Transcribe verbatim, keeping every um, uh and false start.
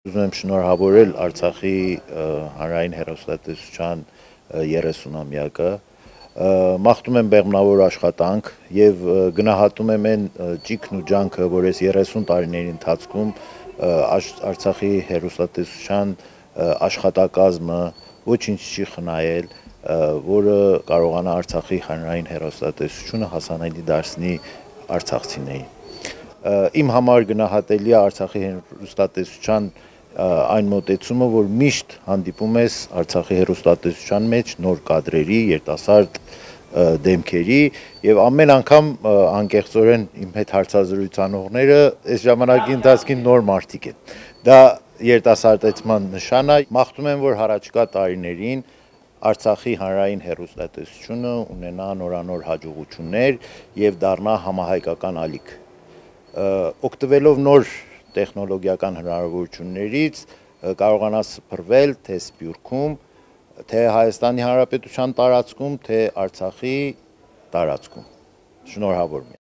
Ուզում եմ շնորհավորել Արցախի հանրային հեռուստատեսության երեսունամյակը, մաղթում եմ բեղմնավոր աշխատանք եւ գնահատում եմ այն ճիգն ու ջանքը, որ այս երեսուն տարիների ընթացքում Արցախի հեռուստատեսության աշխատակազմը ոչինչ չի խնայել, որը կարողանա Արցախի հանրային հեռուստատեսությունը հասանելի դարձնի արցախցիներին։ Իմ համար գնահատելի է Արցախի հեռուստատեսության այն մոտեցումը, որ միշտ հանդիպում ես Արցախի հեռուստատեսության մեջ նոր կադրերի, երիտասարդ դեմքերի եւ ամեն անգամ անկեղծորեն իմ հետ հարցազրույց անողները այս ժամանակի ընթացքին նոր մարդիկ են։ Դա երիտասարդացման նշան է։ Մաղթում եմ, որ հառաջկա տարիներին Արցախի հանրային հեռուստատեսությունը ունենա նորանոր հաջողություններ եւ դառնա համահայկական ալիք։ Օգտվելով նոր տեխնոլոգիական հնարավորություններից կարողանա սփռվել թե Սփյուռքում, թե Հայաստանի Հանրապետության տարածքում, թե Արցախի տարածքում։ Շնորհավոր եմ։